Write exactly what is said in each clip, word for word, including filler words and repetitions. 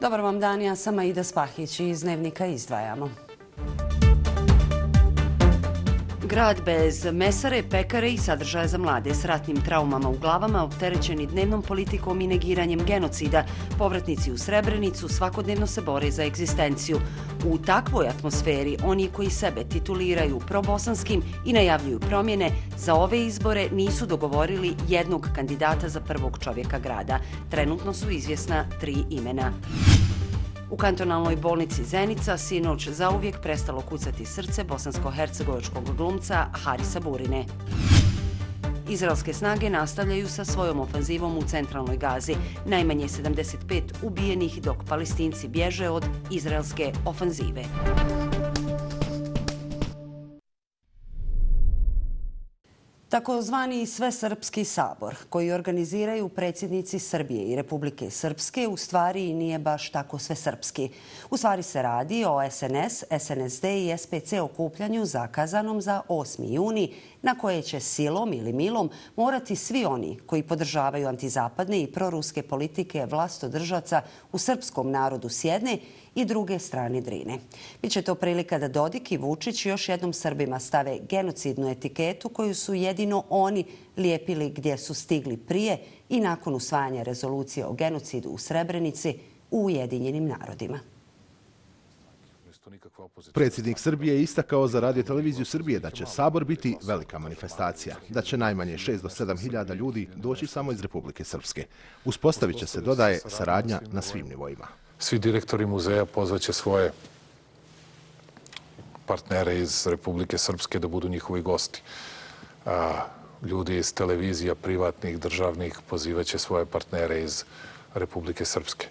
Dobar vam dan, ja sam Aida Spahić i iz Dnevnika izdvajamo. Grad bez mesare, pekare i sadržaja za mlade s ratnim traumama u glavama, opterećeni dnevnom politikom i negiranjem genocida, povratnici u Srebrenicu svakodnevno se bore za egzistenciju. U takvoj atmosferi oni koji sebe tituliraju probosanskim i najavljuju promjene, za ove izbore nisu dogovorili jednog kandidata za prvog čovjeka grada. Trenutno su izvjesna tri imena. U kantonalnoj bolnici Zenica sinoć zauvijek prestalo kucati srce bosansko-hercegovačkog glumca Harisa Burine. Izraelske snage nastavljaju sa svojom ofanzivom u centralnoj Gazi. Najmanje sedamdeset pet ubijenih dok Palestinci bježe od izraelske ofanzive. Takozvani Svesrpski sabor, koji organiziraju predsjednici Srbije i Republike Srpske, u stvari nije baš tako svesrpski. U stvari se radi o S N S, S N S D i S P C okupljanju zakazanom za osmi juni, na koje će silom ili milom morati svi oni koji podržavaju antizapadne i proruske politike vlastodržaca u srpskom narodu s jedne i druge strane Drine. Biće to prilika da Dodik i Vučić još jednom Srbima stave genocidnu etiketu koju su jedino oni lijepili gdje su stigli prije i nakon usvajanja rezolucije o genocidu u Srebrenici u Ujedinjenim narodima. Predsjednik Srbije je istakao za Radio televiziju Srbije da će Sabor biti velika manifestacija, da će najmanje šest do sedam hiljada ljudi doći samo iz Republike Srpske. Uspostavit će se, dodaje, saradnja na svim nivoima. Svi direktori muzeja pozvaće svoje partnere iz Republike Srpske da budu njihovi gosti. Ljudi iz televizija, privatnih, državnih, pozivaće svoje partnere iz Republike Srpske.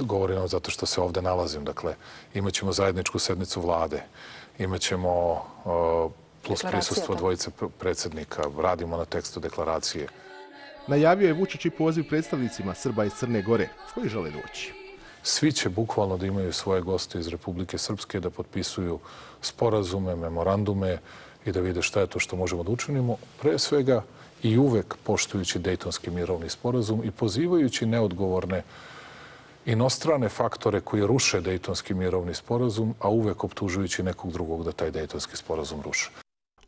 Govorim vam zato što se ovdje nalazim. Dakle, imat ćemo zajedničku sednicu vlade, imat ćemo plus prisustvo dvojice predsjednika, radimo na tekstu deklaracije. Najavio je Vučić i poziv predstavnicima Srba iz Crne Gore koji žele doći. Svi će bukvalno da imaju svoje goste iz Republike Srpske, da potpisuju sporazume, memorandume i da vide šta je to što možemo da učinimo, pre svega i uvek poštujući Dejtonski mirovni sporazum i pozivajući neodgovorne inostrane faktore koji ruše Dejtonski mirovni sporazum, a uvek optužujući nekog drugog da taj Dejtonski sporazum ruše.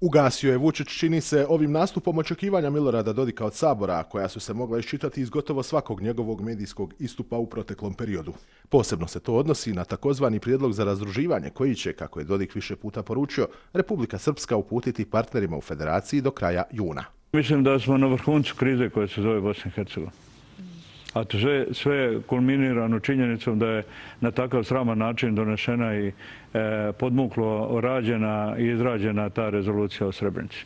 Ugasio je Vučić, čini se, ovim nastupom očekivanja Milorada Dodika od Sabora, koja su se mogla iščitati iz gotovo svakog njegovog medijskog istupa u proteklom periodu. Posebno se to odnosi na takozvani prijedlog za razdruživanje koji će, kako je Dodik više puta poručio, Republika Srpska uputiti partnerima u federaciji do kraja juna. Mislim da smo na vrhuncu krize koja se zove Bosna i Hercegovina. A to sve, sve kulminirano činjenicom da je na takav sraman način donešena i e, podmuklo rađena i izrađena ta rezolucija o Srebrenici.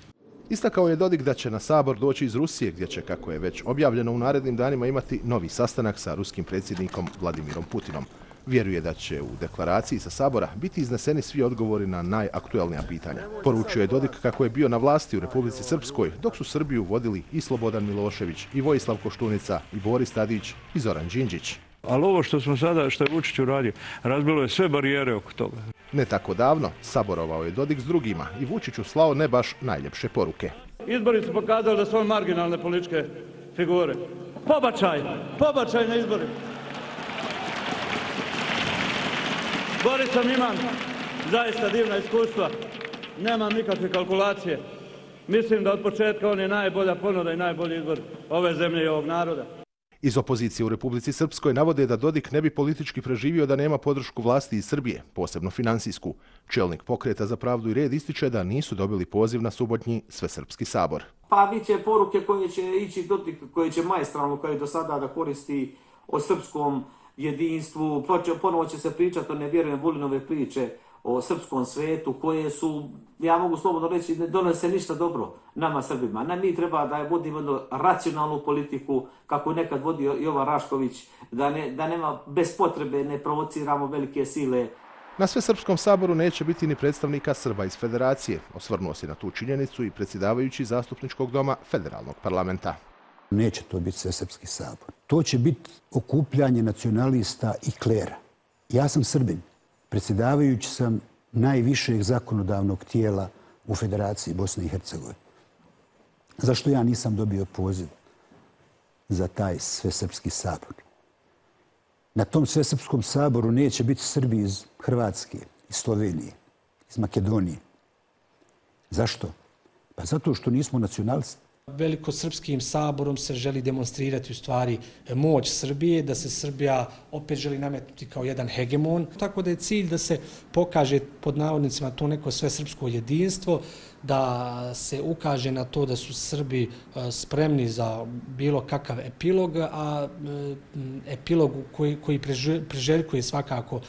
Istakao je Dodik da će na Sabor doći iz Rusije, gdje će, kako je već objavljeno, u narednim danima imati novi sastanak sa ruskim predsjednikom Vladimirom Putinom. Vjeruje da će u deklaraciji sa Sabora biti izneseni svi odgovori na najaktuelnija pitanja. Poručio je Dodik kako je bio na vlasti u Republici Srpskoj, dok su Srbiju vodili i Slobodan Milošević, i Vojislav Koštunica, i Boris Tadić, i Zoran Đinđić. Ali ovo što smo sada, što je Vučić uradio, razbilo je sve barijere oko toga. Ne tako davno saborovao je Dodik s drugima i Vučiću slao ne baš najljepše poruke. Izbori su pokazali da su ove marginalne političke figure. Pobačaj, pobačaj na izbori. Borisam imam zaista divna iskustva, nemam nikakve kalkulacije. Mislim da od početka on je najbolja ponuda i najbolji izbor ove zemlje i ovog naroda. Iz opozicije u Republici Srpskoj navode da Dodik ne bi politički preživio da nema podršku vlasti iz Srbije, posebno finansijsku. Čelnik Pokreta za pravdu i red ističe da nisu dobili poziv na subotnji Svesrpski sabor. Pa bit će poruke koje će ići Dodik, koje će maestralno, kao i do sada, da koristi o srpskom jedinstvu. Ponovo će se pričati o, ne vjerujem, Vulinove priče o srpskom svetu, koje su, ja mogu slobodno reći, ne donose ništa dobro nama Srbima. Nam mi treba da vodimo jednu racionalnu politiku, kako je nekad vodio Jovan Rašković, da, ne, da nema bez potrebe, ne provociramo velike sile. Na Svesrpskom saboru neće biti ni predstavnika Srba iz Federacije. Osvrnuo se na tu činjenicu i predsjedavajući Zastupničkog doma Federalnog parlamenta. Neće to biti Svesrpski sabor. To će biti okupljanje nacionalista i klera. Ja sam Srbin. Predsjedavajući sam najvišeg zakonodavnog tijela u Federaciji Bosne i Hercegovine. Zašto ja nisam dobio poziv za taj Svesrpski sabor? Na tom Svesrpskom saboru neće biti Srbi iz Hrvatske, iz Slovenije, iz Makedonije. Zašto? Pa zato što nismo nacionalisti. Velikosrpskim saborom se želi demonstrirati u stvari moć Srbije, da se Srbija opet želi nametnuti kao jedan hegemon. Tako da je cilj da se pokaže pod navodnicima to neko svesrpsko jedinstvo, da se ukaže na to da su Srbi spremni za bilo kakav epilog, a epilog koji, koji priželjkuje svakako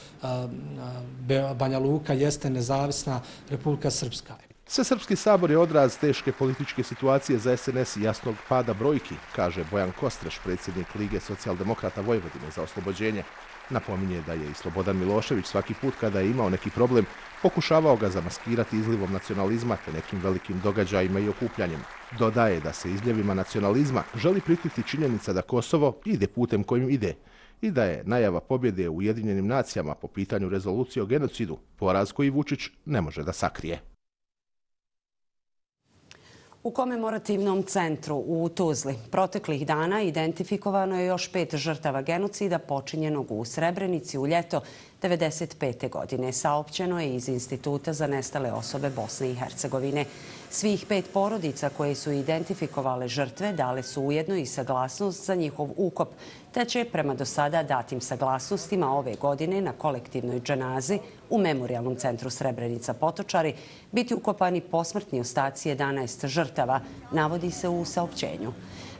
Banja Luka jeste nezavisna Republika Srpska. Svesrpski sabor je odraz teške političke situacije za S N S i jasnog pada brojki, kaže Bojan Kostreš, predsjednik Lige socijaldemokrata Vojvodine za oslobođenje. Napominje da je i Slobodan Milošević svaki put kada je imao neki problem pokušavao ga zamaskirati izlivom nacionalizma te nekim velikim događajima i okupljanjem. Dodaje da se izljevima nacionalizma želi prikriti činjenica da Kosovo ide putem kojim ide i da je najava pobjede u Ujedinjenim nacijama po pitanju rezolucije o genocidu poraz koji Vučić ne može da sakrije. U komemorativnom centru u Tuzli proteklih dana identifikovano je još pet žrtava genocida počinjenog u Srebrenici u ljeto devedeset pete. godine. Saopćeno je iz Instituta za nestale osobe Bosne i Hercegovine. Svih pet porodica koje su identifikovale žrtve dale su ujedno i saglasnost za njihov ukop, te će prema do sada datim saglasnostima ove godine na kolektivnoj dženazi u Memorijalnom centru Srebrenica Potočari biti ukopani posmrtni ostaci jedanaest žrtava, navodi se u saopćenju.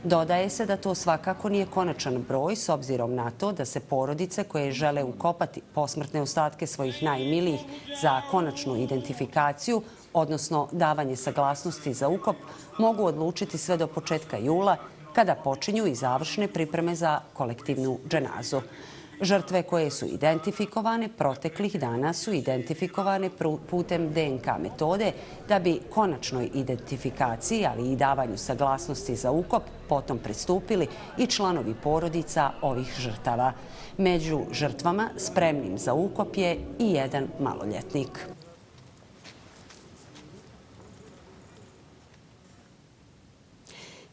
Dodaje se da to svakako nije konačan broj s obzirom na to da se porodice koje žele ukopati posmrtne ostatke svojih najmilijih za konačnu identifikaciju, odnosno davanje saglasnosti za ukop, mogu odlučiti sve do početka jula, kada počinju i završne pripreme za kolektivnu dženazu. Žrtve koje su identifikovane proteklih dana su identifikovane putem D N K metode da bi konačnoj identifikaciji, ali i davanju saglasnosti za ukop, potom pristupili i članovi porodica ovih žrtava. Među žrtvama spremnim za ukop je i jedan maloljetnik.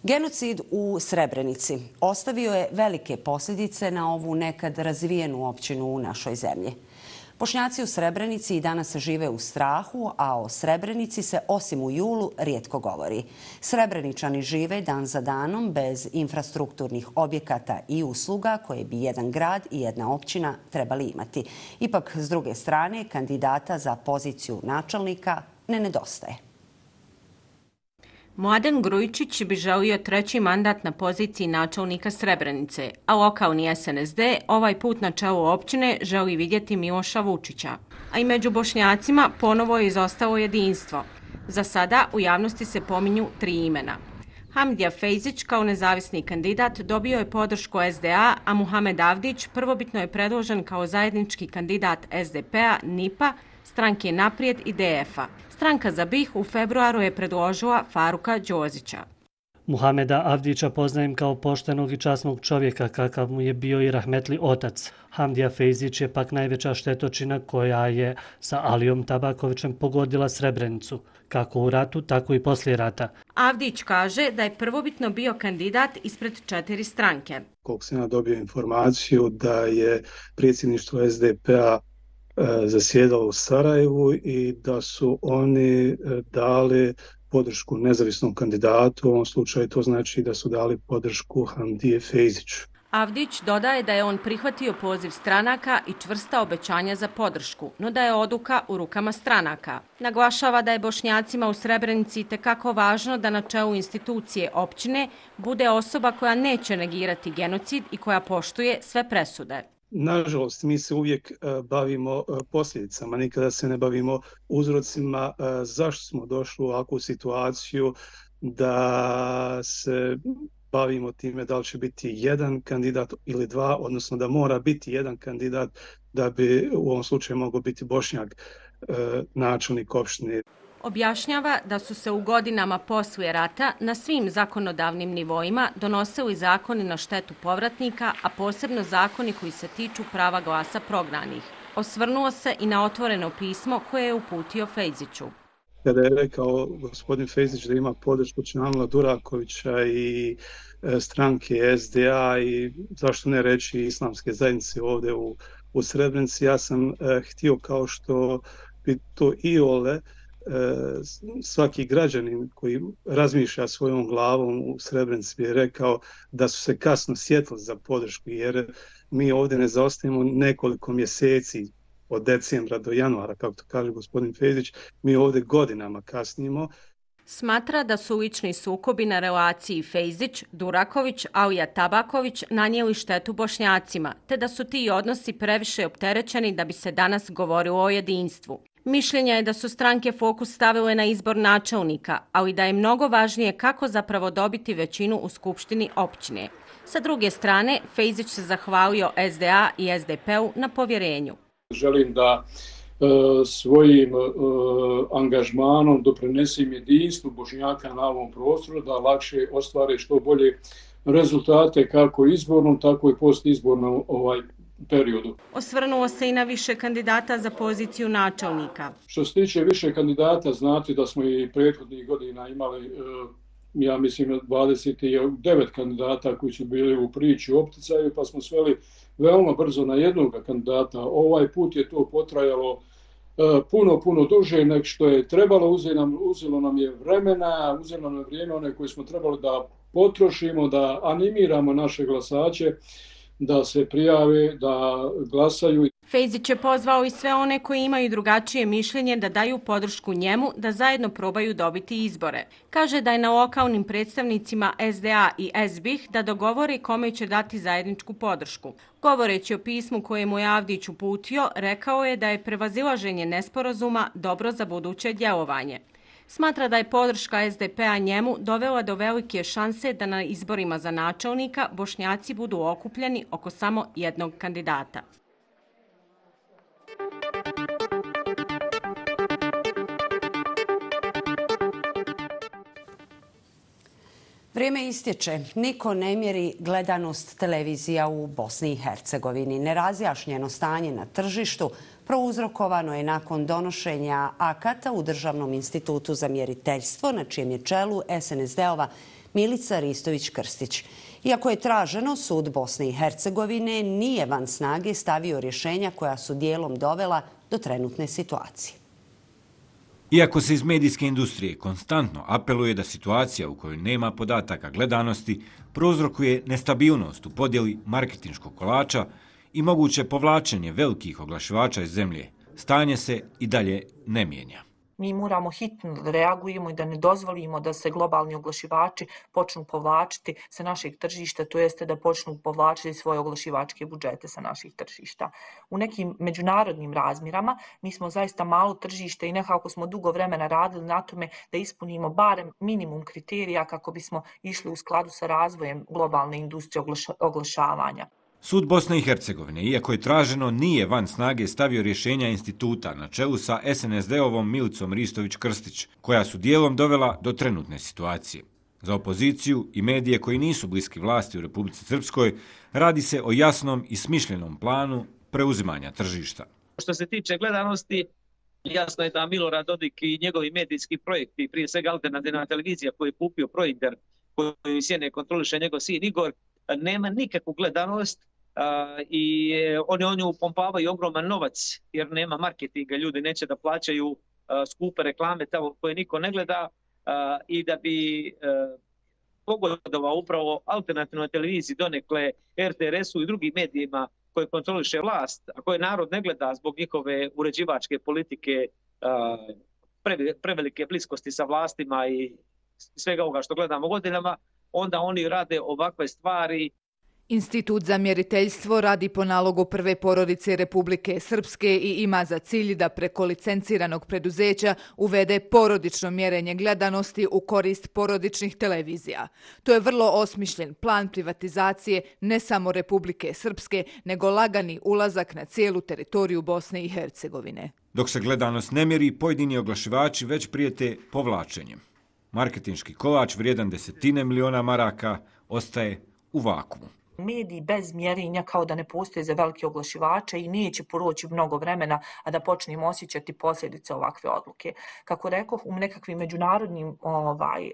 Genocid u Srebrenici ostavio je velike posljedice na ovu nekad razvijenu općinu u našoj zemlji. Bošnjaci u Srebrenici i danas žive u strahu, a o Srebrenici se osim u julu rijetko govori. Srebreničani žive dan za danom bez infrastrukturnih objekata i usluga koje bi jedan grad i jedna općina trebali imati. Ipak, s druge strane, kandidata za poziciju načelnika ne nedostaje. Mladen Grujičić bi želio treći mandat na poziciji načelnika Srebrenice, a lokalni S N S D ovaj put na čelu općine želi vidjeti Miloša Vučića. A i među Bošnjacima ponovo je izostalo jedinstvo. Za sada u javnosti se pominju tri imena. Hamdija Fejzić kao nezavisni kandidat dobio je podršku S D A, a Muhamed Avdić prvobitno je predložen kao zajednički kandidat S D P-a, N I P-a, Stranke Naprijed i D F-a. Stranka za B I H u februaru je predložila Faruka Đozića. Muhameda Avdića poznajem kao poštenog i časnog čovjeka kakav mu je bio i rahmetli otac. Hamdija Fejzić je pak najveća štetočina koja je sa Alijom Tabakovićem pogodila Srebrenicu, kako u ratu, tako i poslije rata. Avdić kaže da je prvobitno bio kandidat ispred četiri stranke. Koliko sam ja dobio informaciju da je predsjedništvo S D P-a zasjedalo u Sarajevu i da su oni dali podršku nezavisnom kandidatu, u ovom slučaju to znači da su dali podršku Hamdije Fejziću. Avdić dodaje da je on prihvatio poziv stranaka i čvrsta obećanja za podršku, no da je odluka u rukama stranaka. Naglašava da je Bošnjacima u Srebrenici itekako važno da na čelu institucije općine bude osoba koja neće negirati genocid i koja poštuje sve presude. Nažalost, mi se uvijek bavimo posljedicama, nikada se ne bavimo uzrocima zašto smo došli u ovakvu situaciju da se bavimo time da li će biti jedan kandidat ili dva, odnosno da mora biti jedan kandidat da bi u ovom slučaju mogao biti Bošnjak načelnik opštine. Objašnjava da su se u godinama poslije rata na svim zakonodavnim nivoima donosili zakoni na štetu povratnika, a posebno zakoni koji se tiču prava glasa prognanih. Osvrnuo se i na otvoreno pismo koje je uputio Fejziću. kada je rekao gospodin Fejzić da ima podršku Čanila Durakovića i stranke S D A i zašto ne reći islamske zajednice ovdje u, u Srebrenici. Ja sam eh, htio kao što bi to iole eh, svaki građanin koji razmišlja svojom glavom u Srebrenici bi rekao da su se kasno sjetili za podršku, jer mi ovdje ne zaostajemo nekoliko mjeseci od decembra do januara, kako to kaže gospodin Fejzić, mi ovdje godinama kasnimo. Smatra da su lični sukobi na relaciji Fejzić, Duraković, Alija Tabaković nanijeli štetu Bošnjacima, te da su ti odnosi previše opterećeni da bi se danas govorilo o jedinstvu. Mišljenja je da su stranke fokus stavile na izbor načelnika, ali da je mnogo važnije kako zapravo dobiti većinu u Skupštini općine. Sa druge strane, Fejzić se zahvalio S D A i S D P-u na povjerenju. Želim da e, svojim e, angažmanom doprinesem jedinstvu Bošnjaka na ovom prostoru, da lakše ostvare što bolje rezultate kako izbornom, tako i postizbornom ovaj periodu. Osvrnuo se i na više kandidata za poziciju načelnika. Što se tiče više kandidata, znate da smo i prethodnih godina imali, e, ja mislim, dvadeset devet kandidata koji su bili u priči u opticaju, pa smo sveli veoma brzo na jednog kandidata. Ovaj put je to potrajalo e, puno, puno duže nego što je trebalo. Uzelo nam, uzelo nam je vremena, uzelo nam vrijeme one koje smo trebali da potrošimo, da animiramo naše glasače, da se prijave, da glasaju. Fejzić je pozvao i sve one koji imaju drugačije mišljenje da daju podršku njemu da zajedno probaju dobiti izbore. Kaže da je na lokalnim predstavnicima S D A i S B I H da dogovore kome će dati zajedničku podršku. Govoreći o pismu koje mu je Avdić uputio, rekao je da je prevazilaženje nesporazuma dobro za buduće djelovanje. Smatra da je podrška S D P-a njemu dovela do velike šanse da na izborima za načelnika Bošnjaci budu okupljeni oko samo jednog kandidata. Vrijeme istječe. Niko ne mjeri gledanost televizija u Bosni i Hercegovini. Nerazjašnjeno stanje na tržištu prouzrokovano je nakon donošenja akata u Državnom institutu za mjeriteljstvo, na čijem je čelu S N S D-ova Milica Ristović-Krstić. Iako je traženo, sud Bosne i Hercegovine nije van snage stavio rješenja koja su dijelom dovela do trenutne situacije. Iako se iz medijske industrije konstantno apeluje da situacija u kojoj nema podataka gledanosti prouzrokuje nestabilnost u podjeli marketinškog kolača i moguće povlačenje velikih oglašivača iz zemlje, stanje se i dalje ne mijenja. Mi moramo hitno da reagujemo i da ne dozvolimo da se globalni oglašivači počnu povlačiti sa naših tržišta, to jeste da počnu povlačiti svoje oglašivačke budžete sa naših tržišta. U nekim međunarodnim razmjerama mi smo zaista malo tržište i nekako smo dugo vremena radili na tome da ispunimo barem minimum kriterija kako bismo išli u skladu sa razvojem globalne industrije oglašavanja. Sud Bosne i Hercegovine, iako je traženo, nije van snage stavio rješenja instituta na čelu sa S N S D-ovom Milicom Ristović-Krstić, koja su dijelom dovela do trenutne situacije. Za opoziciju i medije koji nisu bliski vlasti u Republici Srpskoj radi se o jasnom i smišljenom planu preuzimanja tržišta. Što se tiče gledanosti, jasno je da Milorad Dodik i njegovi medijski projekti, prije svega alternativna televizija koju je kupio Projder, koju sjene kontroliše njegov sin Igor, nema nikakvu gledanost. Uh, i oni oni upompavaju ogroman novac jer nema marketinga, ljudi neće da plaćaju uh, skupe reklame tamo koje niko ne gleda uh, i da bi uh, pogodovao upravo alternativnoj televiziji, donekle R T R S-u i drugim medijima koje kontroliše vlast, a koje narod ne gleda zbog njihove uređivačke politike, uh, pre, prevelike bliskosti sa vlastima i svega ovoga što gledamo godinama, onda oni rade ovakve stvari. Institut za mjeriteljstvo radi po nalogu prve porodice Republike Srpske i ima za cilj da preko licenciranog preduzeća uvede porodično mjerenje gledanosti u korist porodičnih televizija. To je vrlo osmišljen plan privatizacije ne samo Republike Srpske, nego lagani ulazak na cijelu teritoriju Bosne i Hercegovine. Dok se gledanost ne mjeri, pojedini oglašivači već prijete povlačenjem. Marketinški kolač vrijedan desetine miliona maraka ostaje u vakumu. Mediji bez mjerenja kao da ne postoje za velike oglašivače i neće proći mnogo vremena, a da počnemo osjećati posljedice ovakve odluke. Kako rekoh, u nekakvim međunarodnim, ovaj,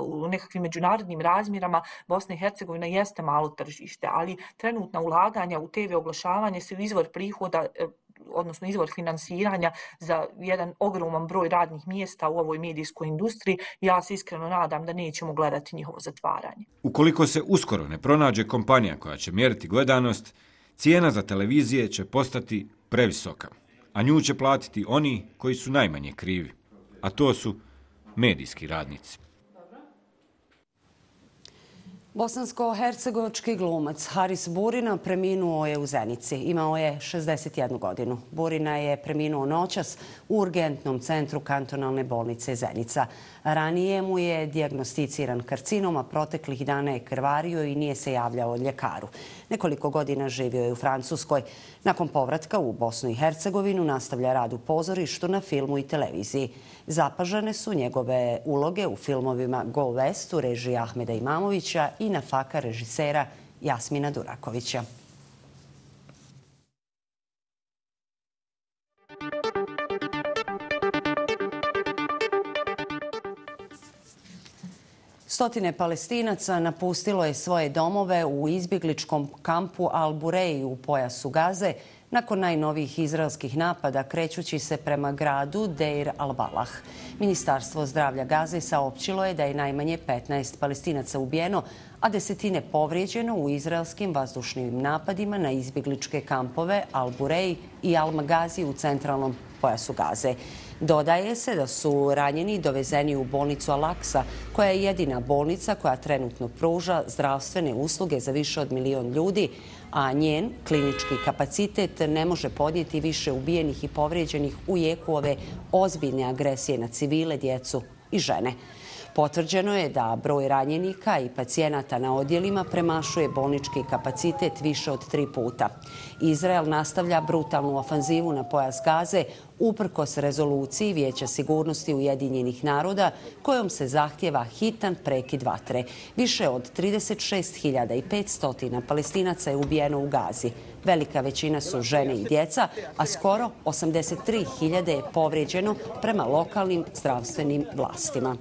u nekakvim međunarodnim razmjerama Bosna i Hercegovina jeste malo tržište, ali trenutna ulaganja u te ve oglašavanje su izvor prihoda, odnosno izvor finansiranja za jedan ogroman broj radnih mjesta u ovoj medijskoj industriji. Ja se iskreno nadam da nećemo gledati njihovo zatvaranje. Ukoliko se uskoro ne pronađe kompanija koja će mjeriti gledanost, cijena za televizije će postati previsoka, a nju će platiti oni koji su najmanje krivi, a to su medijski radnici. Bosansko-hercegovački glumac Haris Burina preminuo je u Zenici. Imao je šezdeset jednu godinu. Burina je preminuo noćas u urgentnom centru kantonalne bolnice Zenica. Ranije mu je dijagnosticiran karcinom, a proteklih dana je krvario i nije se javljao ljekaru. Nekoliko godina živio je u Francuskoj. Nakon povratka u Bosnu i Hercegovinu nastavlja rad u pozorištu, na filmu i televiziji. Zapažene su njegove uloge u filmovima Go West u režiji Ahmeda Imamovića i Nafaka režisera Jasmina Durakovića. Stotine Palestinaca napustilo je svoje domove u izbjegličkom kampu Al-Bureji u pojasu Gaze nakon najnovijih izraelskih napada krećući se prema gradu Deir al-Balah. Ministarstvo zdravlja Gaze saopćilo je da je najmanje petnaest Palestinaca ubijeno, a desetine povrijeđeno u izraelskim vazdušnim napadima na izbjegličke kampove Al-Bureji i Al-Magazi u centralnom pojasu Gaze. Dodaje se da su ranjeni dovezeni u bolnicu Al-Aqsa, koja je jedina bolnica koja trenutno pruža zdravstvene usluge za više od milion ljudi, a njen klinički kapacitet ne može podnijeti više ubijenih i povrijeđenih u jeku ove ozbiljne agresije na civile, djecu i žene. Potvrđeno je da broj ranjenika i pacijenata na odjelima premašuje bolnički kapacitet više od tri puta. Izrael nastavlja brutalnu ofanzivu na pojas Gaze uprkos rezoluciji Vijeća sigurnosti Ujedinjenih naroda kojom se zahtjeva hitan prekid vatre. Više od trideset šest hiljada petsto Palestinaca je ubijeno u Gazi. Velika većina su žene i djeca, a skoro osamdeset tri hiljade je povrijeđeno prema lokalnim zdravstvenim vlastima.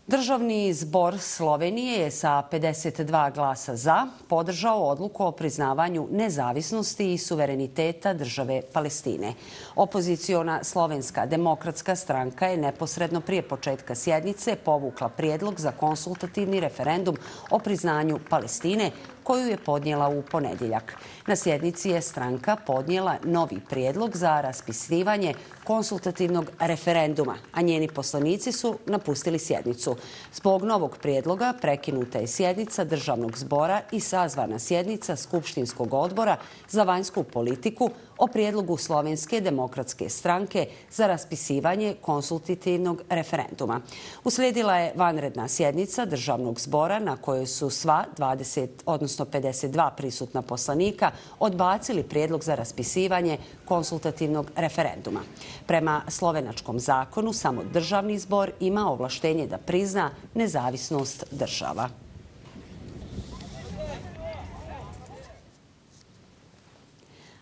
Državni zbor Slovenije je sa pedeset dva glasa za podržao odluku o priznavanju nezavisnosti i suvereniteta države Palestine. Opoziciona Slovenska demokratska stranka je neposredno prije početka sjednice povukla prijedlog za konsultativni referendum o priznanju Palestine, koju je podnijela u ponedjeljak. Na sjednici je stranka podnijela novi prijedlog za raspisivanje konsultativnog referenduma, a njeni poslanici su napustili sjednicu. Zbog novog prijedloga prekinuta je sjednica državnog zbora i sazvana sjednica Skupštinskog odbora za vanjsku politiku o prijedlogu Slovenske demokratske stranke za raspisivanje konsultativnog referenduma. Uslijedila je vanredna sjednica državnog zbora na kojoj su sva dvadeset, odnosno pedeset dva prisutna poslanika odbacili prijedlog za raspisivanje konsultativnog referenduma. Prema slovenačkom zakonu samo državni zbor ima ovlaštenje da prizna nezavisnost država.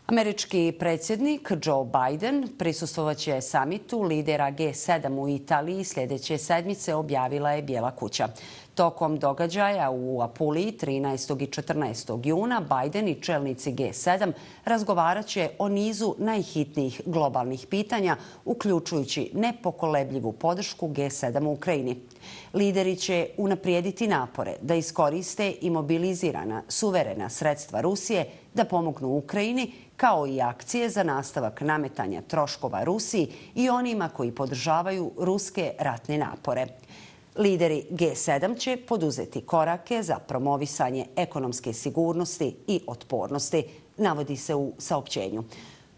Američki predsjednik Joe Biden prisustvovaće samitu lidera G sedam u Italiji sljedeće sedmice, objavila je Bijela kuća. Tokom događaja u Apuliji trinaestog i četrnaestog juna Biden i čelnici G sedam razgovarat će o nizu najhitnijih globalnih pitanja, uključujući nepokolebljivu podršku G sedam u Ukrajini. Lideri će unaprijediti napore da iskoriste imobilizirana suverena sredstva Rusije da pomognu Ukrajini, kao i akcije za nastavak nametanja troškova Rusiji i onima koji podržavaju ruske ratne napore. Lideri G sedam će poduzeti korake za promovisanje ekonomske sigurnosti i otpornosti, navodi se u saopćenju.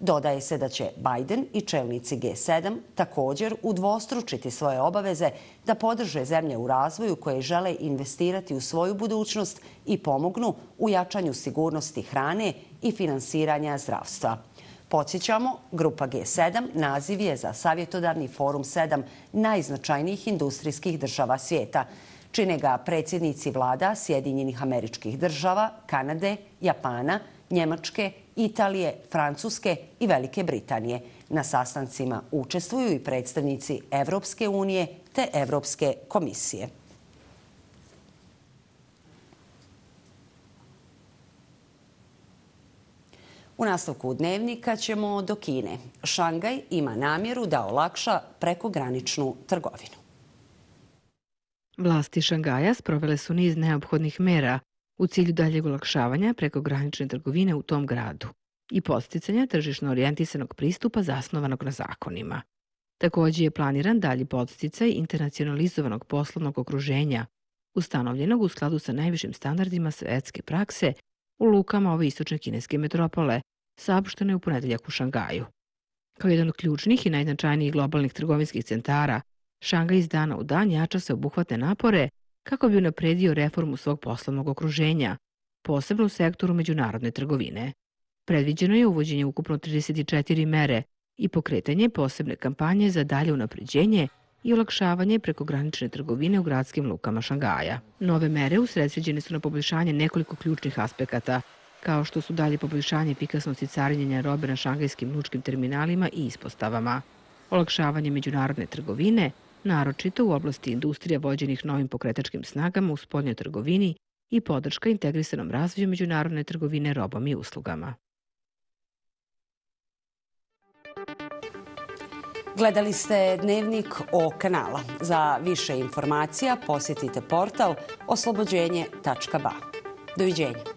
Dodaje se da će Biden i čelnici G sedam također udvostručiti svoje obaveze da podrže zemlje u razvoju koje žele investirati u svoju budućnost i pomognu u jačanju sigurnosti hrane i finansiranja zdravstva. Podsjećamo, Grupa G sedam naziv je za savjetodavni forum sedam najznačajnijih industrijskih država svijeta. Čine ga predsjednici vlada Sjedinjenih Američkih Država, Kanade, Japana, Njemačke, Italije, Francuske i Velike Britanije. Na sastancima učestvuju i predstavnici Evropske unije te Evropske komisije. U nastavku dnevnika ćemo do Kine. Šangaj ima namjeru da olakša prekograničnu trgovinu. Vlasti Šangaja sprovele su niz neophodnih mera u cilju daljeg olakšavanja prekogranične trgovine u tom gradu i podsticanja tržišno orijentisanog pristupa zasnovanog na zakonima. Također je planiran dalji podsticaj internacionalizovanog poslovnog okruženja, ustanovljenog u skladu sa najvišim standardima svetske prakse u lukama ove istočne kineske metropole, saopšteno je u ponedeljak u Šangaju. Kao jedan od ključnih i najznačajnijih globalnih trgovinskih centara, Šangaj iz dana u dan jača se obuhvatne napore kako bi unapredio reformu svog poslovnog okruženja, posebno u sektoru međunarodne trgovine. Predviđeno je uvođenje ukupno trideset četiri mere i pokretanje posebne kampanje za dalje unapređenje i olakšavanje prekogranične trgovine u gradskim lukama Šangaja. Nove mere usredsređene su na poboljšanje nekoliko ključnih aspekata, kao što su dalje poboljšanje efikasnosti carinjenja robe na šangajskim lučkim terminalima i ispostavama, olakšavanje međunarodne trgovine, naročito u oblasti industrija vođenih novim pokretačkim snagama u spoljnoj trgovini i podrška integrisanom razvoju međunarodne trgovine robom i uslugama. Gledali ste Dnevnik O kanala. Za više informacija posjetite portal oslobođenje tačka ba. Doviđenja.